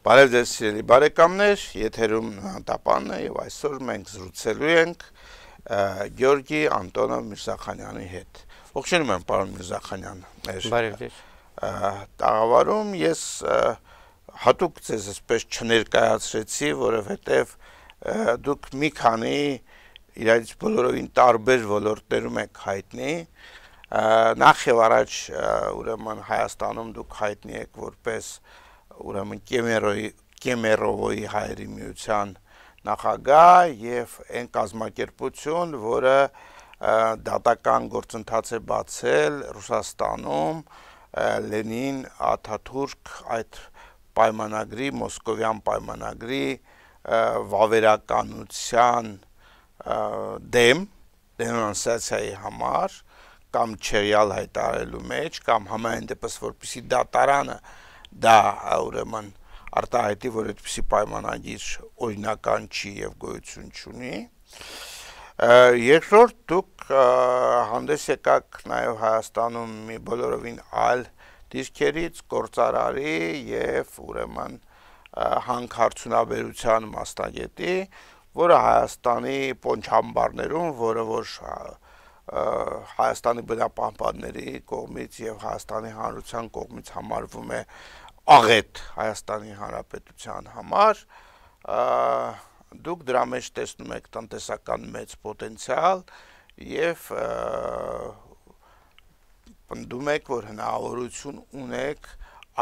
Բարև ձեզ սիրելի բարեկամներ, եթերում Տապանն է եւ այսօր մենք զրուցելու ենք Գյորգի Անտոնով Միրզախանյանի հետ։ Ողջունում եմ, պարոն Միրզախանյան։ Բարև ձեզ։ Տաղավարում ես հատուկ ձեզ այսպես չներկայացրեցի, որովհետեւ դուք մի քանի իրարից բոլորովին տարբեր ոլորտներում եք հայտնի։ Նախ եւ առաջ ուրեմն Հայաստանում դուք հայտնի եք որպես ուրեմն Կեմերովոյի հայերի միության նախագահ եւ այն կազմակերպություն, որը դատական գործընթաց է բացել Ռուսաստանում Լենին Աթաթուրք այդ պայմանագրի, Մոսկովյան պայմանագրի վավերականության դեմ դենոնսացիայի համար կամ չերյալ հայտարարելու մեջ կամ համայն դեպս որպեսի դատարանը դա ուրեմն արտահայտի, որ այդպիսի պայմանագիր օրինական չի եւ գոյություն չունի։ Երկրորդ դուք հանդես եկաք նաեւ Հայաստանում մի բոլորովին այլ դիրքերից գործարարի եւ ուրեմն հանքարդյունաբերության մասնագետի, որը Հայաստանի պոնչամբարներում, որը որ Հայաստանի բնապահպանների կողմից եւ Հայաստանի Հանրության կողմից համարվում է աղետ Հայաստանի Հանրապետության համար, դուք դրա մեջ տեսնում եք տնտեսական մեծ պոտենցիալ եւ պնդում եք, որ հնարավորություն ունեք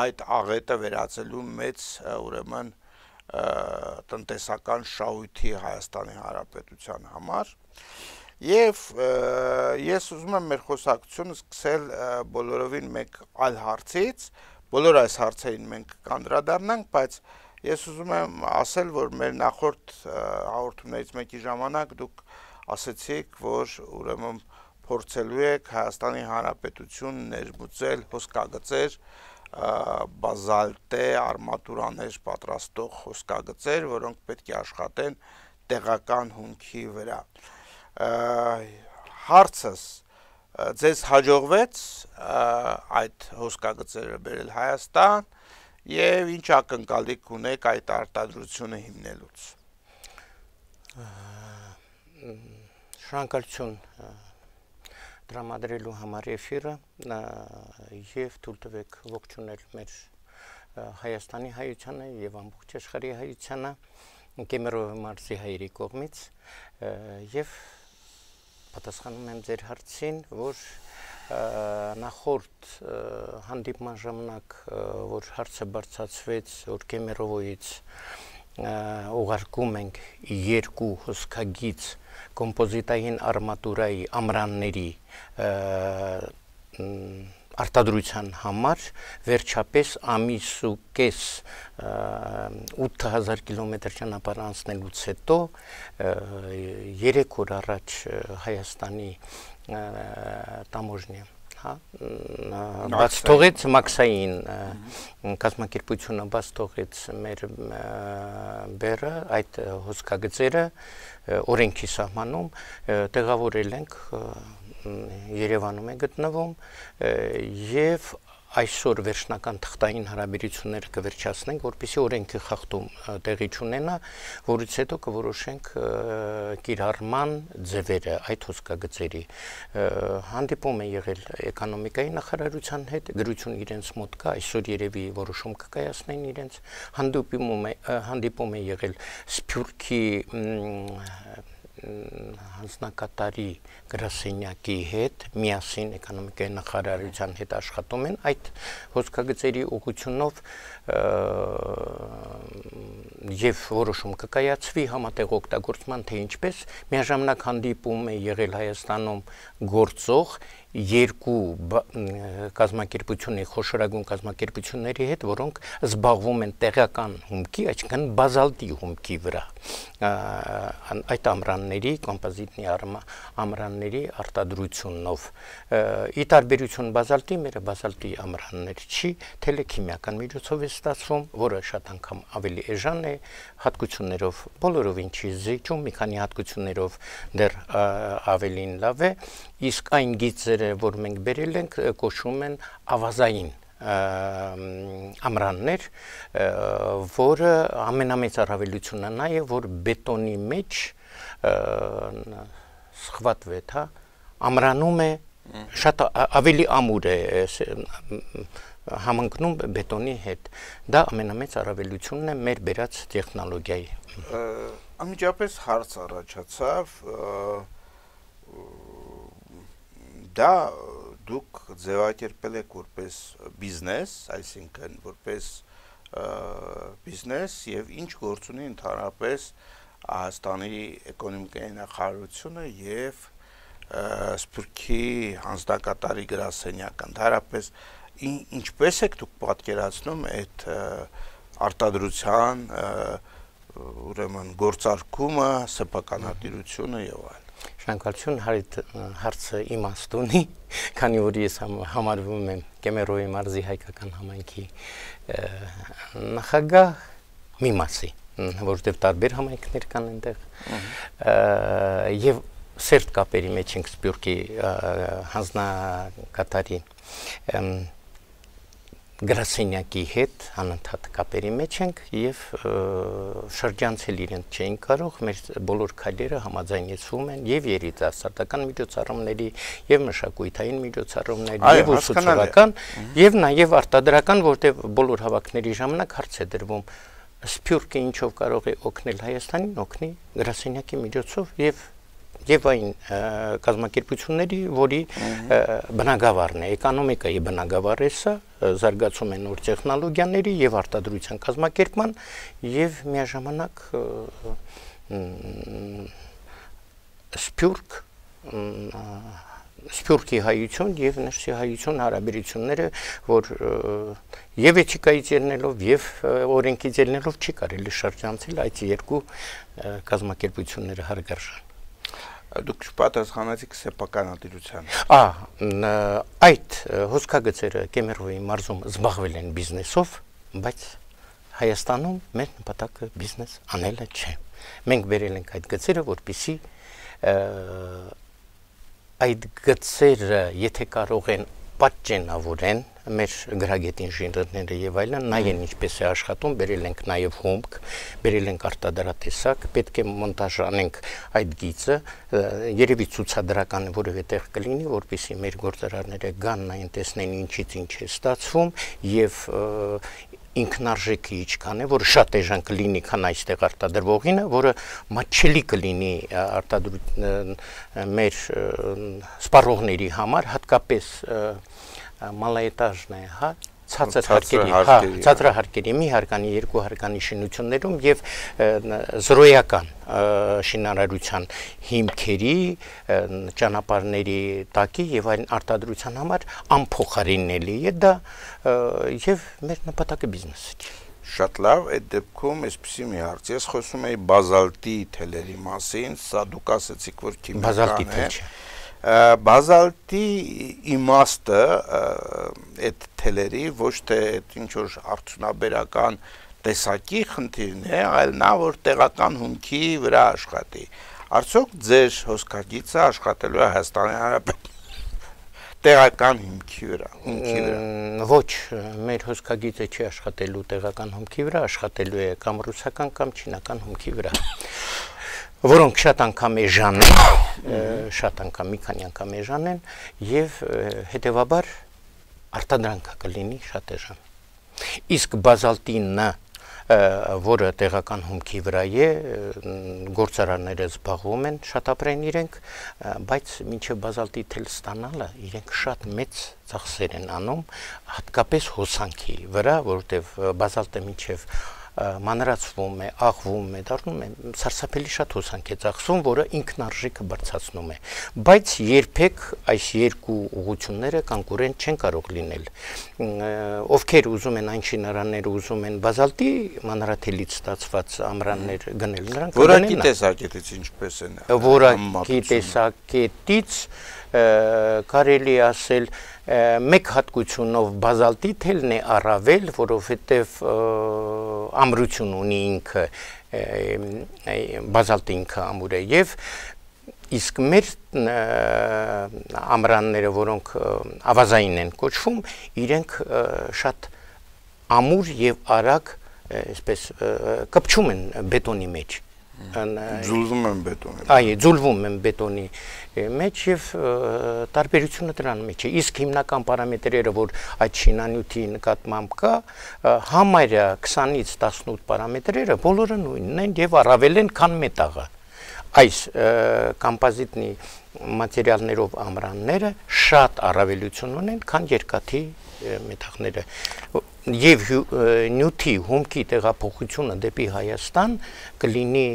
այդ աղետը վերածելու մեծ ուրեմն տնտեսական շահույթի Հայաստանի Հանրապետության համար։ Եվ ես ուզում եմ մեր խոսակցությունը սկսել բոլորովին մեկ այլ հարցից, բոլոր այս հարցերին մենք կանդրադառնանք, բայց ես ուզում եմ ասել, որ մեր նախորդ հաղորդումներից մեկի ժամանակ դուք ասեցիք, որ ուրեմն փորձելու եք Հայաստանի Հանրապետություն ներմուծել հոսքագծեր, բազալտե արմատուրաներ պատրաստող հոսքագծեր, որոնք պետք է աշխատեն տեղական հումքի վրա։ Հարցս ձեզ հաջողվեց այդ հոսքագծերը բերել Հայաստան եւ ինչ ակնկալիք ունեք այդ արտադրությունը հիմնելուց։ Շնորհակալություն դրամադրելու համար էֆիրը եւ թույլ տվեք ողջունել մեր Հայաստանի հայությանը եւ ամբողջ աշխարհի հայությանը Կեմերովի մարզի հայերի կողմից եւ պատասխանում եմ ձեր հարցին, որ նախորդ հանդիպման ժամանակ, որ հարցը բարձրացվեց, որ Կեմերովոյից ուղարկում ենք երկու հոսքագիծ կոմպոզիտային արմատուրայի ամրանների արտադրության համար վերջապես ամիս ու կես 8000 կիլոմետր ճանապարհ անցնելուց հետո 3 օր առաջ Հայաստանի տամոժնիա բաց թողեց մաքսային կազմակերպությունը բաց թողեց մեր բերը այդ հոսքագծերը օրենքի սահմանում տեղավորել ենք Երևանում է գտնվում եւ այսօր վերջնական թղթային հարաբերությունները կվերջացնենք, որպեսզի օրենքի խախտում տեղի չունենա, որից հետո կորոշենք կիրառման ձևերը այդ հոսքագծերի։ Հանդիպում է եղել էկոնոմիկայի նախարարության հետ, գրություն իրենց մոտ կա, այսօր երևի որոշում կկայացնեն իրենց, հանդիպում է եղել Սփյուռքի հանձնակատարի գրասենյակի հետ միասին էկոնոմիկայի նախարարության հետ աշխատում են այդ հոսքագծերի ուղղությունով եւ որոշում կկայացվի համատեղ օգտագործման թե ինչպես միաժամանակ հանդիպում է եղել Հայաստանում գործող երկու կազմակերպությունների խոշորագույն կազմակերպությունների հետ, որոնք զբաղվում են տեղական հումքի, այսինքն բազալտի հումքի վրա այդ ամրանների, կոմպոզիտի ամրանների արտադրությունով։ Ի տարբերություն բազալտի, մեր բազալտի ամրաններ չի, թելեքիմիական միջոցով է ստացվում, որը շատ անգամ ավելի էժան է, հատկություններով բոլորովին չի զիջում, մի քանի հատկություններով դեռ ավելին լավ է, իսկ այն գիծերը, որ մենք բերել ենք, կոչվում են ավազային ամրաններ, որը ամենամեծ առավելությունը նա է, որ բետոնի մեջ սխվատվեց, հա, ամրանում է շատ ավելի ամուր է համընկնում բետոնի հետ։ Դա ամենամեծ առավելությունն է մեր բերած տեխնոլոգիայի։ Անմիջապես հարց առաջացավ, դա դուք ձևակերպել եք որպես բիզնես, այսինքն որպես բիզնես եւ ինչ գործ ունի ընդհանրապես Հայաստանի էկոնոմիկայի նախարարությունը եւ Սփյուռքի հանձնակատարի գրասենյակը, ընդհանրապես ինչպես եք դուք պատկերացնում այդ արտադրության ուրեմն գործարկումը, սեփականատիրությունը եւ այլն։ Շնորհակալություն, հարցը իմաստ ունի, քանի որ ես համարվում եմ Կեմերոյի մարզի հայկական համայնքի նախագահ մի մասի, որովհետև տարբեր համայնքներ կան այնտեղ, եւ սերտ կապերի մեջ ենք Սփյուռքի հանձնակատարի գրասենյակի հետ անընդհատ կապերի մեջ ենք եւ շրջանցել իրենց չէին կարող, մեր բոլոր քայլերը համաձայնեցվում են եւ երիտասարդական միջոցառումների եւ մշակութային միջոցառումների եւ ուսուցողական եւ նաեւ արտադրական, որտեղ բոլոր հավաքների ժամանակ հարց է դրվում Սփյուռքը ինչով կարող է օգնել Հայաստանին, օգնի գրասենյակի միջոցով եւ այն կազմակերպությունների, որի բնագավառն է, էկոնոմիկայի բնագավառը սա, զարգացում են նոր տեխնոլոգիաների եւ արտադրության կազմակերպման եւ միաժամանակ Սփյուռքի հայություն եւ ներսի հայություն հարաբերությունները, որ եւ էթիկայից ելնելով եւ օրենքից ելնելով չի կարելի շրջանցել այդ երկու կազմակերպությունները հարգարժան։ Դուք պատասխանեցիք սեփականատիրության։ Այդ հոսքագծերը Կեմերոյի մարզում զբաղվել են բիզնեսով, բայց Հայաստանում մեր նպատակը բիզնես անելը չէ։ Մենք բերել ենք այդ գծերը, որպեսզի այդ գծերը, եթե կարող են պատճենավորեն մեր գրագետ ինժեներները եւ այլն, նայեն ինչպես է աշխատում, բերել ենք նաեւ հումք, բերել ենք արտադրատեսակ, պետք է մոնտաժ անենք այդ գիծը, երևի ցուցադրական որևէ տեղ կլինի, որպեսզի մեր գործարարները գան նայեն, տեսնեն ինչից ինչ է ստացվում եւ ինքնարժեքը ինչքան է, որ շատ էժան կլինի, քան այստեղ արտադրվողինը, որը մատչելի կլինի մեր սպառողների համար, հատկապես մալաետաժն է, հա, ցածրահարկերի, մի հարկանի, երկու հարկանի շինություններում եւ զրոյական շինարարության հիմքերի, ճանապարհների տակի եւ այլն արտադրության համար անփոխարինելի է դա եւ մեր նպատակը բիզնեսը չէ։ Շատ լավ, այդ դեպքում այսպեսի մի հարց, ես խոսում եի բազալտի թելերի մասին, սա դուք ասացիք, որ քիմիական է։ Բազալտի իմաստը այդ թելերի ոչ թե ինչ որ արդյունաբերական տեսակի խնդիրն է, այլ նա որ տեղական հումքի վրա աշխատի։ Արդյոք ձեր հոսքագիծը աշխատելու է Հայաստանի Հանրապետության տեղական հիմքի վրա։ Ոչ, մեր հոսքագիծը չի աշխատելու տեղական հումքի վրա, աշխատելու է կամ ռուսական կամ չինական հումքի վրա, որոնք շատ անգամ էժան են, շատ անգամ մի քանի անգամ էժան են եւ հետեւաբար արտադրանքը կլինի շատ էժան։ Իսկ բազալտինը, որը տեղական հումքի վրա է, գործարարները զբաղվում են, շատ ապրեն իրենք, բայց մինչև բազալտի թել ստանալը իրենք շատ մեծ ծախսեր են անում, հատկապես հոսանքի վրա, որովհետև բազալտը մինչև մանրացվում է, աղվում է, դառնում է սարսափելի շատ հոսանք է ծախսում, որը ինքնարժեքը բարձրացնում է, բայց երբեք այս երկու ուղղությունները կոնկուրենտ չեն կարող լինել։ Ովքեր ուզում են այն շինարանները ուզում են բազալտի մանրաթելից ստացված ամրաններ գնել, նրանք որակի տեսակետից ինչպես են։ Որակի տեսակետից կարելի ասել մեկ հատկությունով բազալտի թելն է առավել, որովհետև ամրություն ունի ինքը, բազալտը ինքը ամուր է եւ իսկ մեր ամրանները, որոնք ավազային են կոչվում, իրենք շատ ամուր եւ արագ այսպես կպչում են բետոնի մեջ, ձուլվում են բետոնի։ Այո, ձուլվում են բետոնի մեջ եւ տարբերությունը դրան մեջ է։ Իսկ հիմնական պարամետրերը, որ այդ շինանյութի նկատմամբ կա, համարյա 20-ից 18 պարամետրերը բոլորը նույնն են եւ առավել են, քան մետաղը։ Այս կոմպոզիտնի մատերիալներով ամրանները շատ առավելություն ունեն, քան երկաթի մետաղները։ Եվ նյութի հումքի տեղափոխությունը դեպի Հայաստան կլինի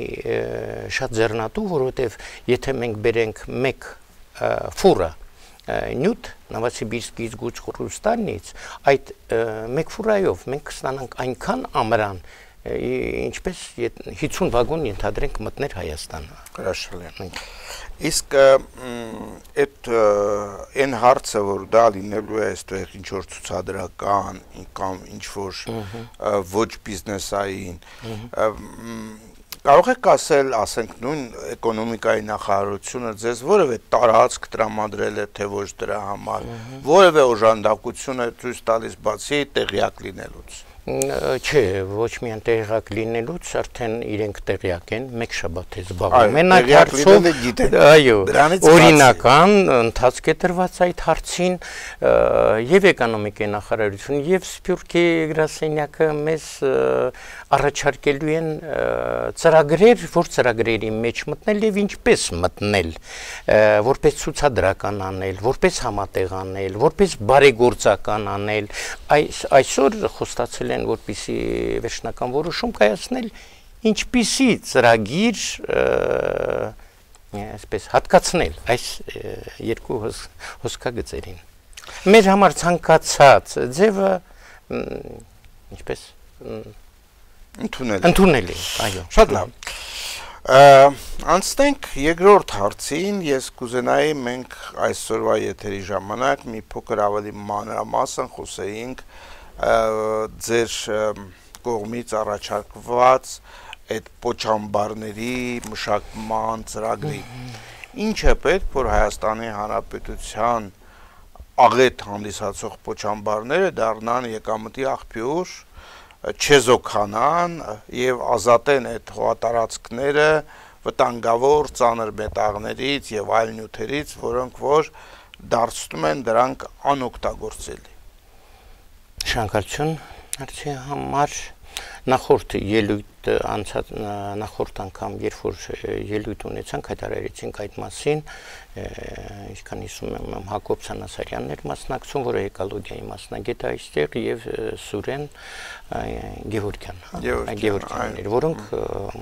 շատ ձեռնատու, որովհետև եթե մենք բերենք մեկ ֆուրա նյութ Նովոսիբիրսկից Գուջխորուստանից, այդ մեկ ֆուրայով մենք կստանանք այնքան ամրան, ինչպես 50 վագոն ենթադրենք մտներ Հայաստան։ Հրաշալի։ Իսկ այդ այն հարցը, որ դա լինելու է այստեղ ինչ որ ցուցադրական կամ ինչ որ ոչ բիզնեսային, կարող եք ասել, ասենք նույն էկոնոմիկայի նախարարությունը ձեզ որևէ տարածք տրամադրել է, թե ոչ դրա համար, որևէ օժանդակություն է ցույց տալիս բացի տեղյակ լինելուց։ Չէ, ոչ միայն տեղյակ լինելուց, արդեն իրենք տեղյակ են, մեկ շաբաթ է զբաղվում են այդ հարցով, այո, օրինական ընթացք է տրված այդ հարցին, եւ էկոնոմիկայի նախարարությունը, եւ Սփյուռքի գրասենյակը մեզ առաջարկելու են ծրագրեր, որ ծրագրերի մեջ մտնել եւ ինչպես մտնել, որպես ցուցադրական անել, որպես համատեղ անել, որպես բարեգործական անել, այսօր խոստացել են, որպեսզի վերջնական որոշում կայացնել, ինչպիսի ծրագիր այսպես հատկացնել այս երկու հոսքագծերին։ Մեր համար ցանկացած ձևը ինչպես ընդունել է, այո։ Շատ լավ։ Անցնենք երկրորդ հարցին, ես կուզենայի մենք այսօրվա եթերի ժամանակ մի փոքր ավելի մանրամասն խոսեինք ձեր կողմից առաջարկված այդ պոչամբարների մշակման ծրագրի։ Ինչ է պետք, որ Հայաստանի Հանրապետության աղետ հանդիսացող պոչամբարները դառնան եկամտի աղբյուր, չեզոքանան եւ ազատեն այդ հողատարածքները վտանգավոր ծանր մետաղներից եւ այլ նյութերից, որոնք որ դարձնում են դրանք անօգտագործելի։ Շնորհակալություն հարցի համար։ Նախորդ ելույթ անցած նախորդ անգամ երբ որ ելույթ ունեցանք հայտարարեցինք այդ մասին, ինչքան հիշում եմ Հակոբ Սանասարյանն էր մասնակցում, որը էկոլոգիայի մասնագետ է այստեղ, եւ Սուրեն Գևորգյանն էր, որոնք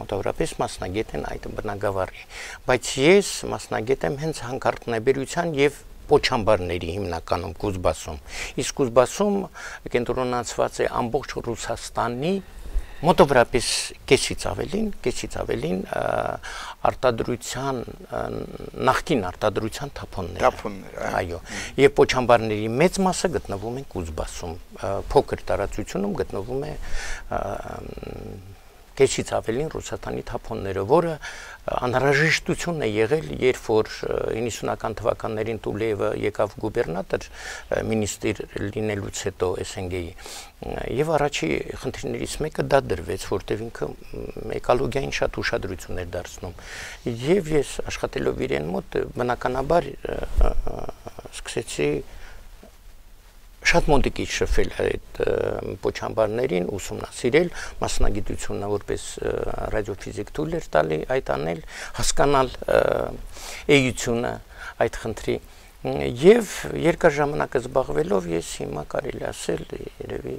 մոտավորապես մասնագետ են այդ բնագավառի, բայց ես մասնագետ եմ հենց հանքարդյունաբերության եւ պոչամբարների հիմնականում Կուզբասում։ Իսկ Կուզբասում կենտրոնացված է ամբողջ Ռուսաստանի մոտավորապես կեսից ավելին արտադրության նախկին արտադրության թափոններ, այո, եւ պոչամբարների մեծ մասը գտնվում են Կուզբասում, փոքր տարածությունում գտնվում է կեսից ավելին Ռուսաստանի թափոնները, որը անհրաժեշտություն է եղել, երբ որ 90-ական թվականներին Տուլեևը եկավ գուբերնատոր մինիստր լինելուց հետո SNG-ի, եւ առաջի խնդիրներից մեկը դա դրվեց, որտեղ ինքը էկոլոգիային շատ ուշադրություն էր դարձնում, եւ ես աշխատելով իրեն մոտ բնականաբար սկսեցի շատ մոտիկից շփվել այդ պոչամբարներին, ուսումնասիրել, մասնագիտությունը որպես ռադիոֆիզիկ թույլ էր տալի այդ անել, հասկանալ էությունը այդ խնդրի եւ երկար ժամանակ զբաղվելով ես հիմա կարելի ասել երևի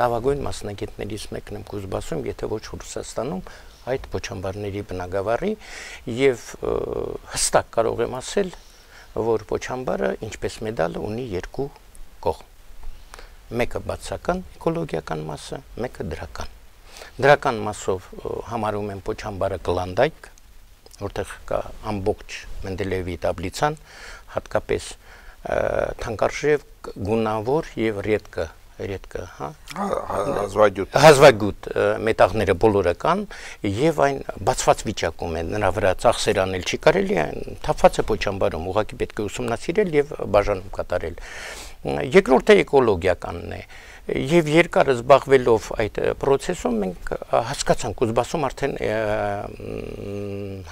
լավագույն մասնագետներից մեկն եմ Կուզբասում, եթե ոչ Ռուսաստանում այդ պոչամբարների բնագավառի եւ հստակ կարող եմ ասել, որ պոչամբարը ինչպես մեդալը ունի երկու կողմ։ Մեկը բացական էկոլոգիական մասը, մեկը դրական։ Դրական մասով համարում են պոչամբարը կլանդայք, որտեղ կա ամբողջ Մենդելեևի տաբլիցան, հատկապես թանկարժեք, գունավոր եւ ռեդկը Երեդկը, հա։ Հազվագյուտ մետաղները բոլորը կան եւ այն բացված վիճակում են, նրա վրա ծախսեր անել չի կարելի, այն թափված է փոչամբարում, ուղղակի պետք է ուսումնասիրել եւ բաժանում կատարել։ Երկրորդը էկոլոգիականն է։ Եվ երկար զբաղվելով այդ process-ում մենք հասկացանք Կուզբասում արդեն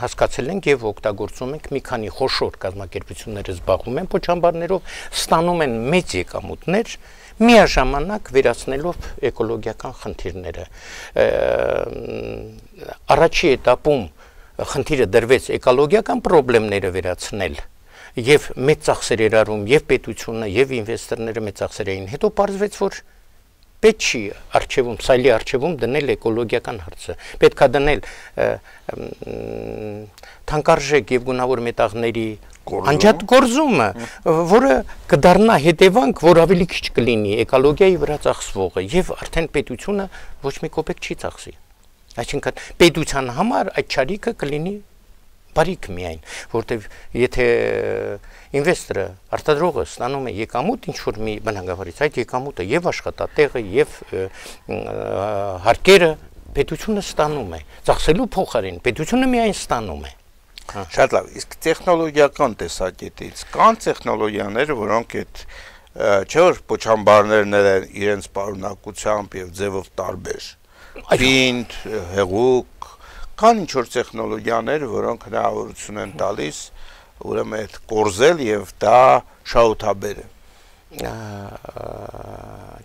հասկացել ենք եւ օգտագործում ենք մի քանի խոշոր կազմակերպությունները զբաղվում են փոչամբարներով, ստանում են մեծ եկամուտներ, միաժամանակ վերացնելով էկոլոգիական խնդիրները։ Առաջի էտապում խնդիրը դրվեց էկոլոգիական խնդիրները վերացնել եւ մեծ ծախսեր երարում եւ պետությունը եւ ինվեստորները մեծ ծախսեր էին, հետո պարզվեց, որ պետք չի արխիվում, սայլի արխիվում դնել էկոլոգիական հարցը։ Պետք է դնել թանկարժեք եւ գունավոր մետաղների անջատ գործումը, որը կդառնա հետևանք, որ ավելի քիչ կլինի էկոլոգիայի վրա ծախսվողը եւ արդեն պետությունը ոչ մի կոպեկ չի ծախսի։ Այսինքն պետության համար այդ ճարիքը կլինի բարիք միայն, որտեվ եթե ինվեստորը արտադրողը ստանում է եկամուտ ինչ որ մի բնագավառից, այդ եկամուտը եւ աշխատատեղը եւ հարկերը պետությունը ստանում է, ծախսելու փոխարեն պետությունը միայն ստանում է։ Շատ լավ, իսկ տեխնոլոգիական տեսակետից կան տեխնոլոգիաներ, որոնք այդ չէ որ փոչամբարներն են իրենց պարունակությամբ եւ ձևով տարբեր։ Պինդ, հեղուկ Կան ինչ-որ տեխնոլոգիաներ, որոնք հնարավորություն են տալիս, ուրեմն այդ կորզել եւ դա շահութաբեր է։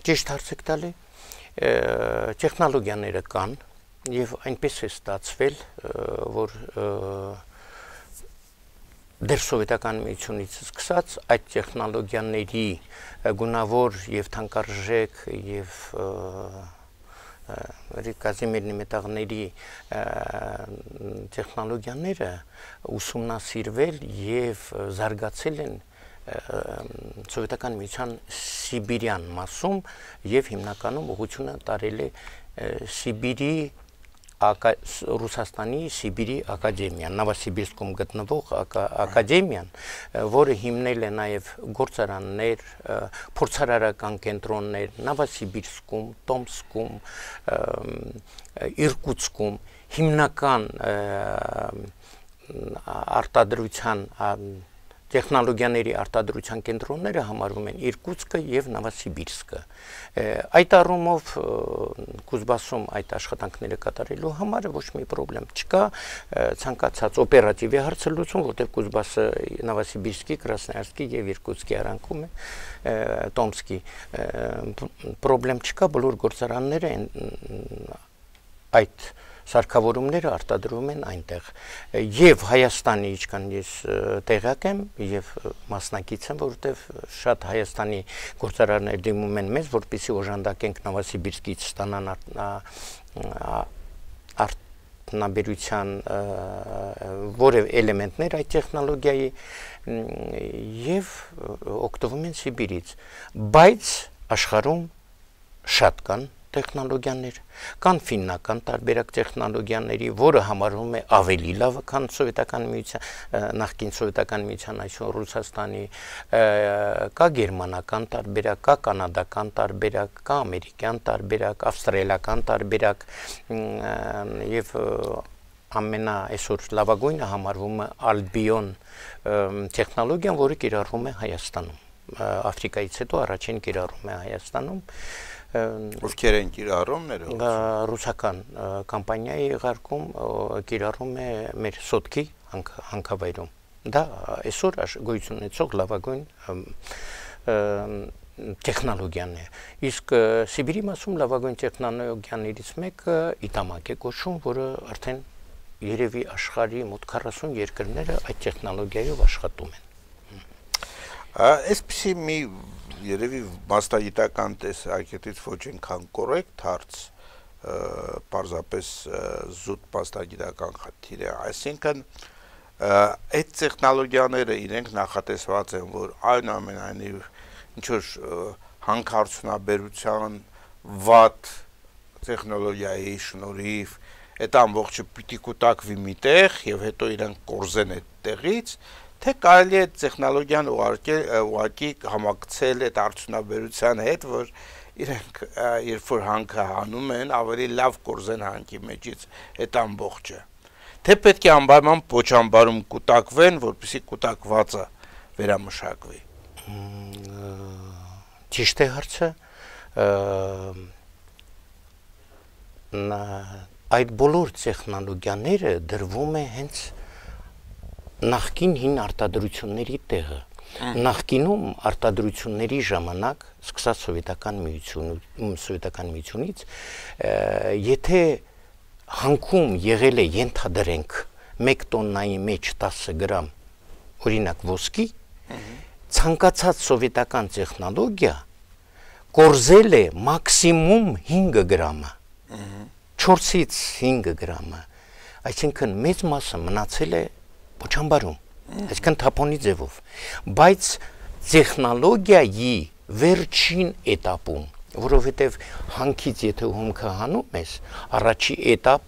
Ճիշտ հարց եք տալի, տեխնոլոգիաները կան եւ այնպես է ստացվել, որ դեռ սովետական միությունից սկսած այդ տեխնոլոգիաների գունավոր եւ թանկարժեք եւ Կազիմիրնի մետաղների տեխնոլոգիաները ուսումնասիրվել եւ զարգացել են սովետական միության Սիբիրյան մասում եւ հիմնականում ուղղությունը տարել է Սիբիրի Ռուսաստանի Սիբիրի ակադեմիան, Նովոսիբիրսկում գտնվող ակադեմիան, որը հիմնել է նաև գործարաններ, փորձարարական կենտրոններ Նովոսիբիրսկում, Տոմսկում, Իրկուտսկում, հիմնական արտադրության տեխնոլոգիաների արտադրության կենտրոնները համարվում են Իրկուտսկը եւ Նովոսիբիրսկը։ Այդ առումով Կուզբասում այդ աշխատանքները կատարելու համար ոչ մի խնդրեմ չկա, ցանկացած օպերատիվ է հարցը լուծում, որտեղ Կուզբասը Նովոսիբիրսկի, Կրասնոյարսկի եւ Իրկուտսկի արանքում է, Տոմսկի խնդրեմ չկա, բոլոր գործարանները այդ սարքավորումները արտադրվում են այնտեղ եւ Հայաստանի ինչքան ես տեղյակ եմ եւ մասնակից եմ, որովհետեւ շատ Հայաստանի գործարաններ դիմում են մեզ, որպեսզի օժանդակենք Նովոսիբիրսկից ստանան արտոնաբերության որևէ էլեմենտներ այդ տեխնոլոգիայի եւ օգտվում են Սիբիրից, բայց աշխարհում շատ կան տեխնոլոգիաներ, կան ֆիննական տարբերակ տեխնոլոգիաների, որը համարվում է ավելի լավ, քան սովետական միության, նախկին սովետական միության, այսօր Ռուսաստանի, կա գերմանական տարբերակ, կա կանադական տարբերակ, կա ամերիկյան տարբերակ, ավստրալիական տարբերակ եւ ամենա այսօր լավագույնը համարվում է Albion տեխնոլոգիան, որը կիրառվում է Հայաստանում, Աֆրիկայից հետո առաջին կիրառվում է Հայաստանում։ Ովքեր են կիրառում ներողություն։ Ռուսական կամպանիայի ղարկում կիրառում է մեր Սոտքի հանքավայրում։ Դա այսօր գոյություն ունեցող լավագույն տեխնոլոգիան է։ Իսկ Սիբիրի մասում լավագույն տեխնոլոգիաներից մեկը Իտամակ է կոչվում, որը արդեն երևի աշխարհի մոտ 40 երկրները այդ տեխնոլոգիայով աշխատում են։ Այսպեսի մի երևի մասնագիտական տեսակետից ոչ այնքան կորեկտ հարց, պարզապես զուտ մասնագիտական խնդիր է, այսինքն այդ տեխնոլոգիաները իրենք նախատեսված են, որ այնուամենայնիվ ինչ-որ հանքարդյունաբերության վատ տեխնոլոգիայի շնորհիվ այդ ամբողջը պիտի կուտակվի միտեղ եւ հետո իրենք կորզեն այդ տեղից, թե կարելի է տեխնոլոգիան ուղղակի համակցել այդ արդյունաբերության հետ, որ իրենք երբ որ հանքը հանում են, ավելի լավ կորզեն հանքի մեջից այդ ամբողջը։ Թե պետք է անպայման պոչամբարում կուտակվեն, որպեսզի կուտակվածը վերամշակվի։ Ճիշտ է հարցը, այդ բոլոր տեխնոլոգիաները դրվում է հենց նախկին հին արտադրությունների տեղը։ Նախկինում արտադրությունների ժամանակ, սկսած սովետական միությունից, եթե հանքում եղել է ենթադրենք 1 տոննայի մեջ 10 գրամ օրինակ ոսկի, ցանկացած սովետական տեխնոլոգիա կորզել է մաքսիմում 5 գրամը, 4-ից 5 գրամը, այսինքն մեծ մասը մնացել է պոչամբարում, այսինքն թափոնի ձևով, բայց տեխնոլոգիայի վերջին էտապում, որովհետև հանքից եթե հումքը հանում ես, առաջի էտապ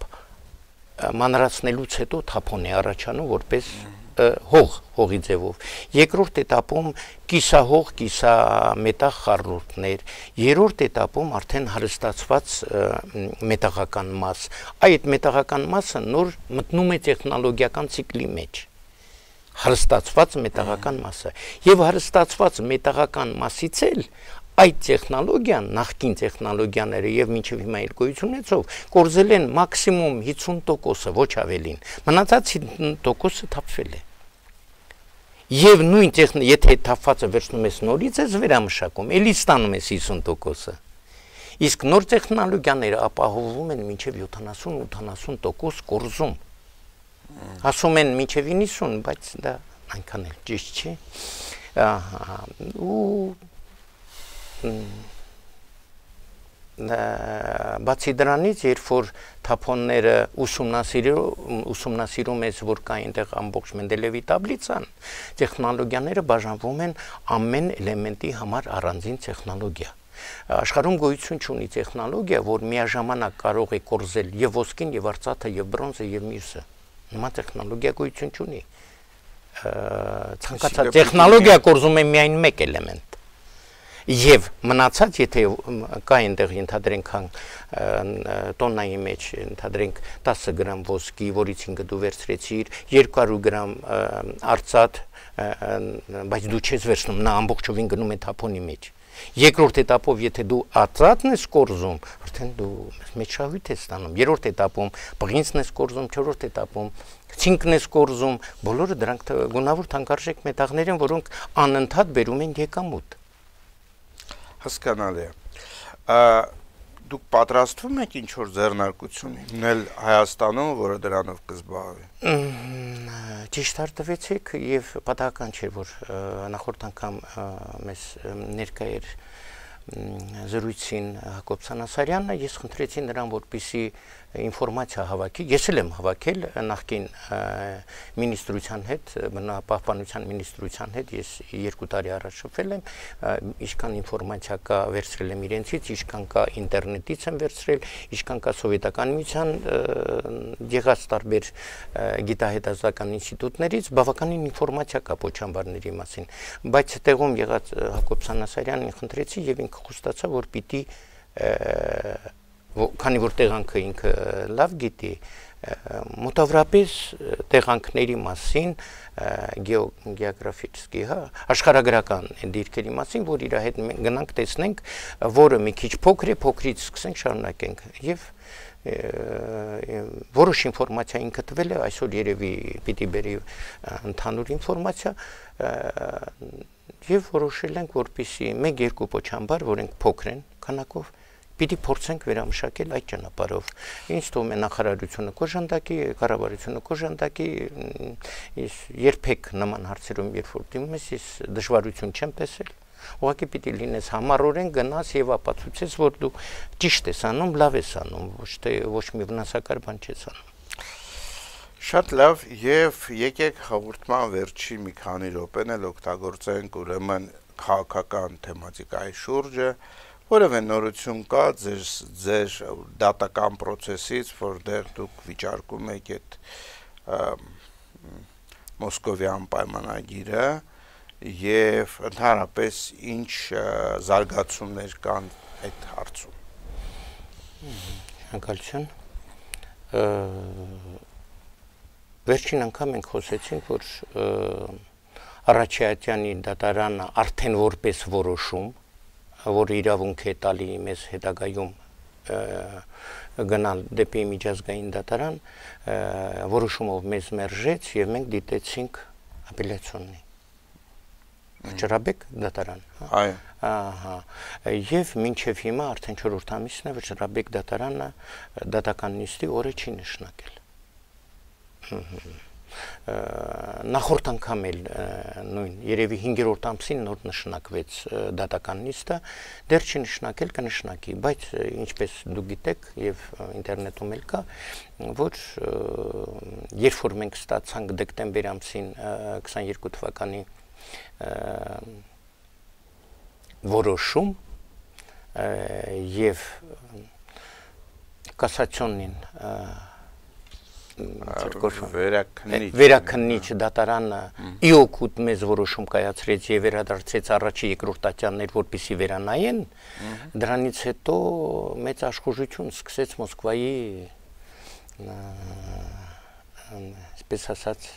մանրացնելուց հետո թափոն է առաջանում որպես հողի ձևով, երկրորդ էտապում կիսահող, կիսամետաղ խառնուրդներ, երրորդ էտապում արդեն հարստացված մետաղական մաս, այդ մետաղական մասը նոր մտնում է տեխնոլոգիական ցիկլի մեջ, հարստացված մետաղական մասը, եւ հարստացված մետաղական մասից էլ այդ տեխնոլոգիան, նախկին տեխնոլոգիաները եւ մինչեւ հիմա իր գոյություն ունեցող կորզել են մաքսիմում 50%-ը, ոչ ավելին, մնացած 50%-ը թափվել է։ Եվ նույն եթե թափվածը վերցնում ես նորից ես վերամշակում, էլի ստանում ես 50%-ը։ Իսկ նոր տեխնոլոգիաները ապահովում են մինչեւ 70-80% կորզում։ Ասում են մինչեւ 90, բայց դա այնքան էլ ճիշտ չի։ Բացի դրանից, երբ որ թափոնները ուսումնասիրում ես, որ կա այնտեղ ամբողջ Մենդելևի տաբլիցան, տեխնոլոգիաները բաժանվում են ամեն էլեմենտի համար առանձին տեխնոլոգիա։ Աշխարհում գոյություն չունի տեխնոլոգիա, որ միաժամանակ կարող է կորզել եւ ոսկին, եւ արծաթը, եւ բրոնզը, եւ մյուսը։ Նման տեխնոլոգիա գոյություն չունի։ Ցանկացած տեխնոլոգիա կորզում է միայն մեկ էլեմենտ։ Եվ մնացած, եթե կա այնտեղ ենթադրենք տոննայի մեջ ենթադրենք 10 գրամ ոսկի, որից 5 դու վերցրեցիր, 200 գրամ արծաթ, բայց դու չես վերցնում, նա ամբողջովին գնում է թափոնի մեջ։ Երկրորդ էտապով, եթե դու արծաթն ես կորզում, արդեն դու մեծ շահույթ ես ստանում։ Երրորդ էտապում բղինցն ես կորզում, չորրորդ էտապում ցինկն ես կորզում, բոլորը դրանք գունավոր թանկարժեք մետաղներ են, որոնք անընդհատ բերում են եկամուտ։ Հասկանալի է։ Դուք պատրաստվում եք ինչ-որ ձեռնարկություն հիմնել Հայաստանում, որը դրանով կզբաղվի։ Ճիշտ արտվեցիք եւ պատահական չէ, որ նախորդ անգամ մեզ ներկա էր զրույցին Հակոբ Սանասարյանը, ես խնդրեցի նրան, որպեսզի ինֆորմացիա հավաքի, ես էլ եմ հավաքել նախկին մինիստրության հետ, բնապահպանության մինիստրության հետ, ես 2 տարի առաջ շփվել եմ, ինչքան ինֆորմացիա կա վերցրել եմ իրենցից, ինչքան կա ինտերնետից եմ վերցրել, ինչքան կա սովետական միության եղած տարբեր գիտահետազոտական ինստիտուտներից, բավականին ինֆորմացիա կա պոչամբարների մասին, բայց տեղում եղած Հակոբ Սանասարյանին խնդրեցի եւ ինքը խոստացավ, որ պիտի քանի որ տեղանքը ինքը լավ գիտի, մոտավորապես տեղանքների մասին գեոգրաֆիչսկի, աշխարհագրական դիրքերի մասին, որ իր հետ գնանք տեսնենք, որը մի քիչ փոքր է, փոքրից սկսենք շարունակենք եւ որոշ ինֆորմացիա ինքը տվել է, այսօր երևի պիտի բերի ընդհանուր ինֆորմացիա եւ որոշել ենք, որպեսզի 1-2 պոչամբար, որոնք փոքր են քանակով, պիտի փորձենք վերամշակել այդ ճանապարհով։ Ինչ թվում է նախարարությունը կոժանդակի, կառավարությունը կոժանդակի, ես երբեք նման հարցերում երբ որ դիմում ես դժվարություն չեմ տեսել։ Ուղղակի պիտի լինես համառորեն գնաս եւ ապացուցես, որ դու ճիշտ ես անում, լավ ես անում, ոչ մի վնասակար բան չես անում։ Շատ լավ, եւ եկեք հաղորդման վերջի մի քանի րոպեն էլ օգտագործենք ուրեմն քաղաքական թեմատիկայի շուրջը, որևէ նորություն կա ձեր դատական process-ից, որտեղ դուք վիճարկում եք այդ Մոսկովյան պայմանագիրը եւ ընդհանրապես ինչ զարգացումներ կան այդ հարցում։ Շնորհակալություն։ Վերջին անգամ մենք խոսեցինք, որ Արաչյանի դատարանը արդեն որպես որոշում, որ իրավունք է տալի մեզ հետագայում գնալ դեպի միջազգային դատարան, որոշումով մեզ մերժեց եւ մենք դիտեցինք ապելյացիոնի Վճռաբեկ դատարան։ Այո։ Ահա։ Եվ մինչև հիմա արդեն 4 ամիսն է Վճռաբեկ դատարանը դատական նիստի օրը չի նշանակել։ Նախորդ անգամ էլ նույն երևի 5-րդ ամսին նոր նշանակվեց դատական նիստը, դեռ չի նշանակել, կնշանակի, բայց ինչպես դուք գիտեք եւ ինտերնետում էլ կա, որ երբ որ մենք ստացանք դեկտեմբեր ամսին 22 թվականի որոշում եւ կասացիոնին վերաքննիչ դատարանը իօգուտ մեզ որոշում կայացրեց եւ վերադարձեց առաջի երկրորդ տատյաններ, որպեսի վերանայեն, դրանից հետո մեծ աշխուժություն սկսեց Մոսկվայի այսպես ասած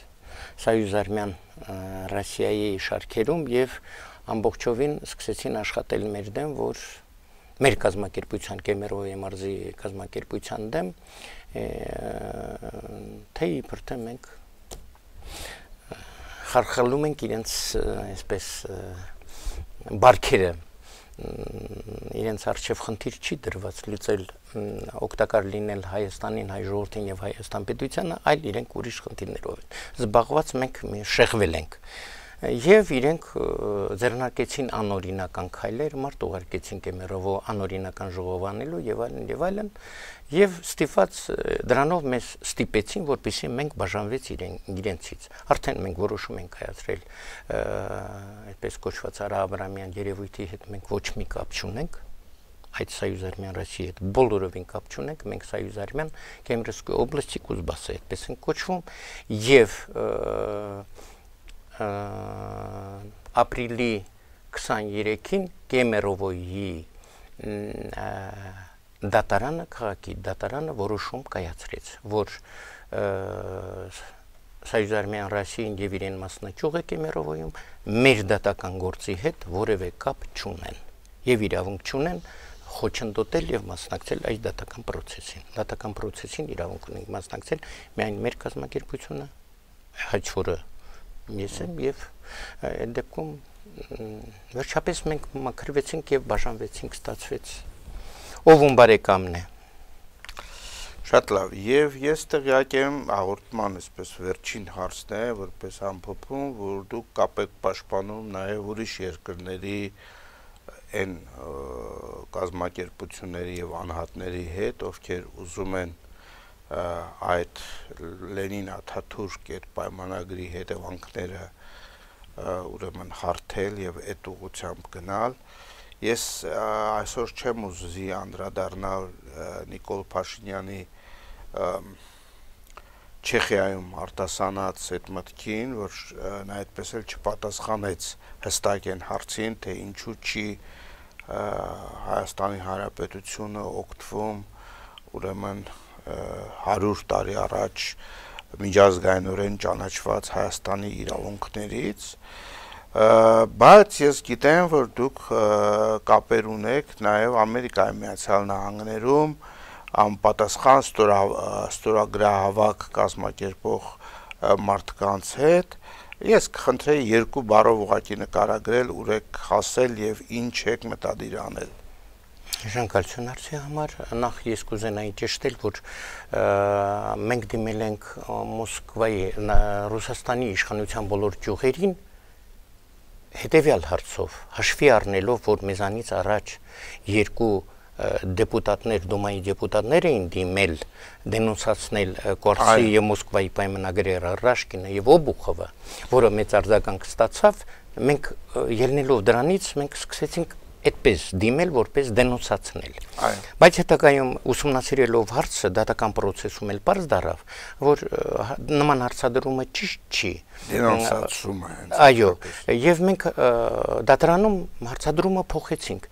Սոյուզարմյան Ռոսիայի շարքերում եւ ամբողջովին սկսեցին աշխատել մեր դեմ, որ մեր կազմակերպության Կեմերովի մարզի կազմակերպության դեմ թե իբր թե մենք խարխալում ենք իրենց այսպես բարքերը իրենց արժև խնդիր չի դրված լուծել օգտակար լինել Հայաստանին, հայ ժողովրդին եւ Հայաստան պետությանը, այլ իրենք ուրիշ խնդիրներով են զբաղված, մենք շեղվել ենք եւ իրենք ձեռնարկեցին անօրինական քայլեր, մարդ ուղարկեցին Կեմերովո անօրինական ժողով անելու եւ այլն եւ ստիպված դրանով մեզ ստիպեցին, որպեսզի մենք բաժանվեց իրենցից։ Արդեն մենք որոշում ենք կայացրել այդպես կոչված Արա-Աբրամյան երևույթի հետ մենք ոչ մի կապ չունենք, այդ Սոյուզարմյան Ռոսիայի հետ բոլորովին կապ չունենք, մենք Սոյուզարմյան Կեմերովսկի օբլաստի Կուզբասը այդպես են կոչվում եւ ապրիլի 23-ին Կեմերովոյի դատարանը, քաղաքի դատարանը որոշում կայացրեց, որ Սոյուզարմյան Ռոսիային եւ իրեն մասնակցող է Կեմերովոյում մեր դատական գործի հետ որևէ կապ չունեն եւ իրավունք չունեն խոչընդոտել եւ մասնակցել այս դատական process-ին։ Դատական process-ին իրավունք ունենք մասնակցել միայն մեր կազմակերպությունը, հաջորդը ես եմ եւ այդ դեպքում վերջապես մենք մաքրվեցինք եւ բաժանվեցինք, ստացվեց ով բարեկամն է։ Շատ լավ, եւ ես տեղյակ եմ հաղորդման այսպես վերջին հարցն է, որպես ամփոփում, որ դուք կապ եք պաշտպանում նաեւ ուրիշ երկրների այն կազմակերպությունների եւ անհատների հետ, ովքեր ուզում են այդ Լենին-Աթաթուրք այդ պայմանագրի հետևանքները ուրեմն հարթել եւ այդ ուղղությամբ գնալ։ Ես այսօր չեմ ուզի անդրադառնալ Նիկոլ Փաշինյանի Չեխիայում արտասանած այդ մտքին, որ նա այդպես էլ չպատասխանեց հստակ այն հարցին, թե ինչու չի Հայաստանի Հանրապետությունը օգտվում ուրեմն 100 տարի առաջ միջազգայինորեն ճանաչված Հայաստանի իրավունքներից, բայց ես գիտեմ, որ դուք կապեր ունեք նաև Ամերիկայի Միացյալ Նահանգներում անպատասխան ստորագրահավաք կազմակերպող մարդկանց հետ։ Ես կխնդրեի երկու բառով ուղղակի նկարագրել, ուր եք հասել եւ ինչ եք մտադիր անել։ Շնորհակալություն հարցի համար։ Նախ ես կուզենայի ճշտել, որ մենք դիմել ենք Մոսկվայի Ռուսաստանի իշխանության բոլոր ճյուղերին հետևյալ հարցով, հաշվի առնելով, որ մեզանից առաջ երկու դեպուտատներ, Դումայի դեպուտատներ էին դիմել դենոնսացնել Կորսի եւ Մոսկվայի պայմանագրի Ռաշկինը եւ Օբուխովը, որը մեծ արձագանք ստացավ, մենք ելնելով դրանից մենք սկսեցինք այդպես դիմել, որպես դենոնսացնել։ Այո։ Բայց հետագայում ուսումնասիրելով հարցը դատական process-ում էլ պարզ դարավ, որ նման հարցադրումը ճիշտ չի։ Դենոնսացումը հենց։ Այո, եւ մենք դատարանում հարցադրումը փոխեցինք։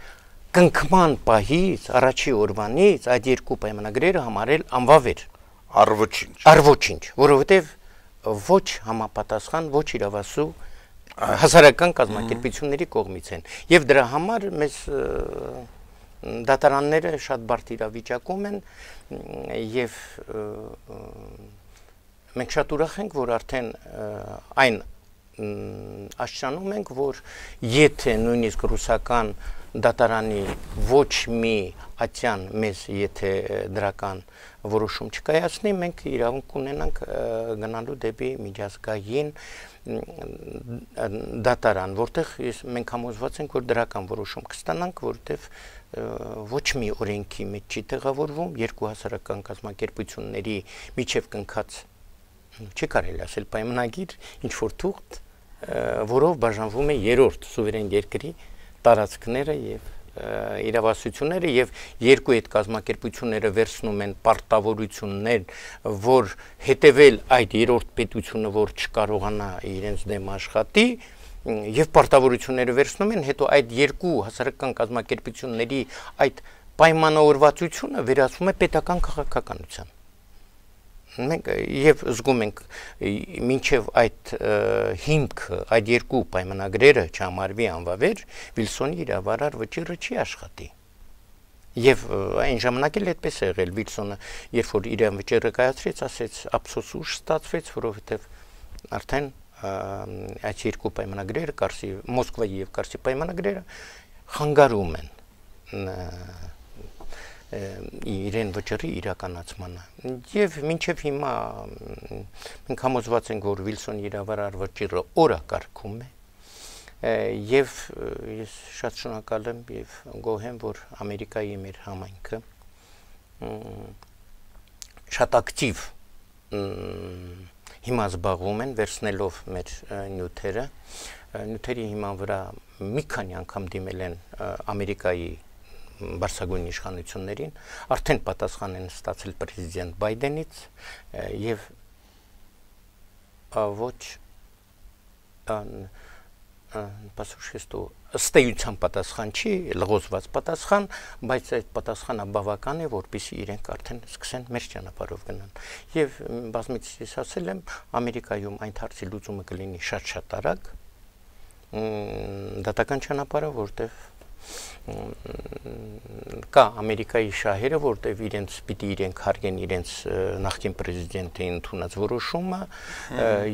Կնքման պահից, առաջի օրվանից այդ երկու պայմանագրերը համարել անվավեր։ Առ ոչինչ, որովհետեւ ոչ համապատասխան, ոչ իրավասու հասարակական կազմակերպությունների կողմից են եւ դրա համար մեզ դատարանները շատ բարդ իրավիճակում են եւ մենք շատ ուրախ ենք, որ արդեն այն աշճանում ենք, որ եթե նույնիսկ ռուսական դատարանի ոչ մի ատյան մեզ եթե դրական որոշում չկայացնի, մենք իրավունք ունենանք գնալու դեպի միջազգային դատարան, որտեղ մենք համոզված ենք, որ դրական որոշում կստանանք, որտեղ ոչ մի օրենքի մեջ չի տեղավորվում երկու հասարակական կազմակերպությունների միջև կնքած չի կարելի ասել պայմանագիր, ինչ որ թուղթ, որով բաժանվում է երրորդ սուվերեն երկրի տարածքները եւ իրավասությունները եւ երկու այդ կազմակերպությունները վերցնում են պարտավորություններ, որ հետեւել այդ երրորդ պետությունը, որ չկարողանա իրենց դեմ աշխատի եւ պարտավորությունները վերցնում են, հետո այդ երկու հասարակական կազմակերպությունների այդ պայմանավորվածությունը վերածվում է պետական քաղաքականության։ Մենք եւ զգում ենք մինչեւ այդ հիմքը այդ երկու պայմանագրերը չհամարվի անվավեր Վիլսոնի իրավարար վճիռը չի աշխատի եւ այն ժամանակ էլ այդպես է եղել Վիլսոնը երբ որ իր վճիռը կայացրեց ասեց ափսոս ուշ ստացվեց որովհետեւ արդեն այդ երկու պայմանագրերը Կարսի Մոսկվայի եւ Կարսի պայմանագրերը խանգարում են իրեն վճռի իրականացմանը եւ մինչեւ հիմա մենք համոզված ենք որ Վիլսոնի իրավարար վճիռը օրակարգում է եւ ես շատ շնորհակալ եմ եւ գոհ եմ որ Ամերիկայի մեր համայնքը շատ ակտիվ հիմա զբաղվում են վերցնելով մեր նյութերի հիման վրա մի քանի անգամ դիմել են Ամերիկայի բարձրագույն իշխանություններին արդեն պատասխան են ստացել պրեզիդենտ Բայդենից եւ ոչ ըստեյության պատասխան չի, լղոզված պատասխան, բայց այդ պատասխանը բավական է, որպեսզի իրենք արդեն սկսեն մեր ճանապարհով գնան։ Եվ բազմիցս ես ասել եմ, Ամերիկայում այն հարցի լուծումը կլինի շատ արագ, դատական ճանապարհը, որտեղ կա Ամերիկայի շահերը, որտեղ իրենց պիտի իրենք հարգեն իրենց նախկին պրեզիդենտի ընդունած որոշումը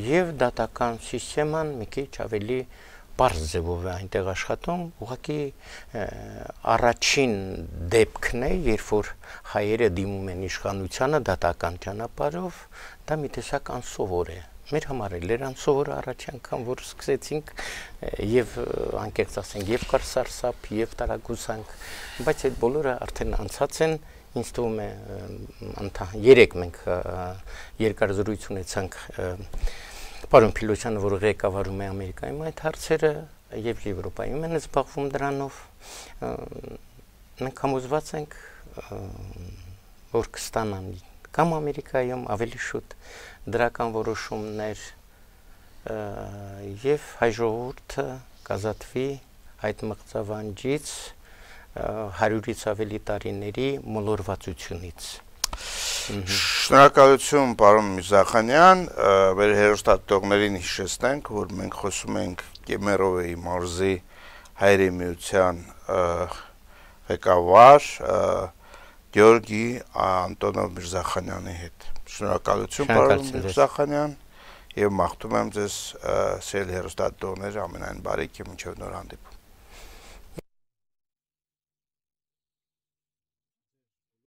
եւ դատական սիստեման մի քիչ ավելի պարզ ձևով է այնտեղ աշխատում, ուղղակի առաջին դեպքն է, երբ որ հայերը դիմում են իշխանությանը դատական ճանապարհով, դա մի տեսակ անսովոր է։ Մեր համար էլ էր անսովոր առաջ անգամ, որ սկսեցինք եւ անկեղծ ասենք եւ կարսարսափ եւ տարագուսանք, բայց այդ բոլորը արդեն անցած են, ինձ թվում է երեք մենք երկար զրույց ունեցանք պարոն Փիլոսյանը, որ ղեկավարում է Ամերիկայում այդ հարցերը եւ Եվրոպայում են զբաղվում դրանով, մենք համոզված ենք, որ կստանան կամ Ամերիկայում ավելի շուտ դրական որոշումներ եւ հայ ժողովուրդը կազատվի այդ մղձավանջից 100-ից ավելի տարիների մոլորվածությունից։ Շնորհակալություն պարոն Միրզախանյան, մեր հեռուստադիտողներին հիշեցնենք, որ մենք խոսում ենք Կեմերովեի մարզի հայերի միության ղեկավար Գեորգի Անտոնով Միրզախանյանի հետ։ Շնորհակալություն պարոն Միրզախանյան եւ մաղթում եմ ձեզ սիրելի հեռուստադիտողներ ամենայն բարիք եւ մինչեւ նոր հանդիպում։